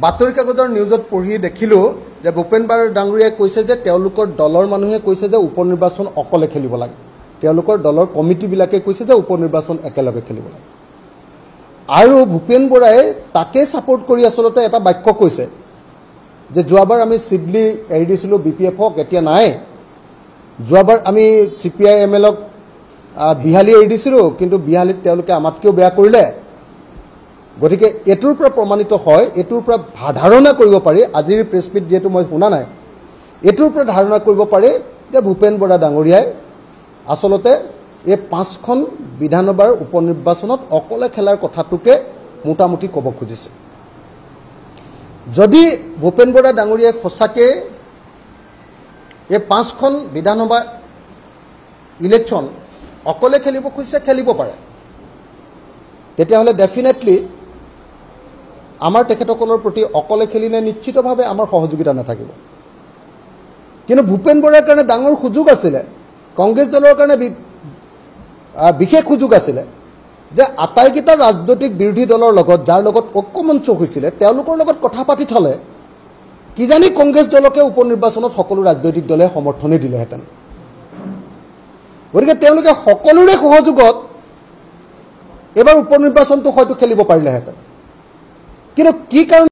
বাতৰি কাগজৰ নিউজত পঢ়ি দেখিলোঁ যে ভূপেন বৰা ডাঙৰীয়াই কৈছে যে তেওঁলোকৰ দলৰ মানুহে কৈছে যে উপ নিৰ্বাচন অকলে খেলিব লাগে, তেওঁলোকৰ দলৰ কমিটিবিলাকে কৈছে যে উপ নিৰ্বাচন একেলগে খেলিব লাগে। আৰু ভূপেন বৰাই তাকে ছাপোৰ্ট কৰি আচলতে এটা বাক্য কৈছে যে যোৱাবাৰ আমি চিবলি এৰি দিছিলোঁ বি পি এফক, এতিয়া নাই। যোৱাবাৰ আমি C P I am Alok Behali এৰি দিছিলোঁ, কিন্তু বিহালীত তেওঁলোকে আমাতকৈও বেয়া কৰিলে। গতিকে এইটোৰ পৰা প্ৰমাণিত হয়, এইটোৰ পৰা ধাৰণা কৰিব পাৰি, আজিৰ প্ৰেছ মিট যিহেতু মই শুনা নাই, এইটোৰ পৰা ধাৰণা কৰিব পাৰি যে ভূপেন বৰা ডাঙৰীয়াই আচলতে এই 5খন বিধানসভাৰ উপ নিৰ্বাচনত অকলে খেলাৰ কথাটোকে মোটামুটি ক'ব খুজিছে। যদি ভূপেন বৰা ডাঙৰীয়াই সঁচাকৈ এই 5খন বিধানসভা ইলেকশ্যন অকলে খেলিব খুজিছে, খেলিব পাৰে, তেতিয়াহ'লে ডেফিনেটলি আমাৰ তেখেতসকলৰ প্ৰতি অকলে খেলিলে নিশ্চিতভাৱে আমাৰ সহযোগিতা নাথাকিব। কিন্তু ভূপেন বৰাৰ কাৰণে ডাঙৰ সুযোগ আছিলে, কংগ্ৰেছ দলৰ কাৰণে বিশেষ সুযোগ আছিলে যে আটাইকেইটা ৰাজনৈতিক বিৰোধী দলৰ লগত যাৰ লগত ঐক্যমঞ্চ হৈছিলে তেওঁলোকৰ লগত কথা পাতি থ'লে কিজানি কংগ্ৰেছ দলকে উপ নিৰ্বাচনত সকলো ৰাজনৈতিক দলে সমৰ্থনেই দিলেহেঁতেন। গতিকে তেওঁলোকে সকলোৰে সহযোগত এইবাৰ উপ নিৰ্বাচনটো হয়তো খেলিব পাৰিলেহেঁতেন। কিন্তু কি কাৰণ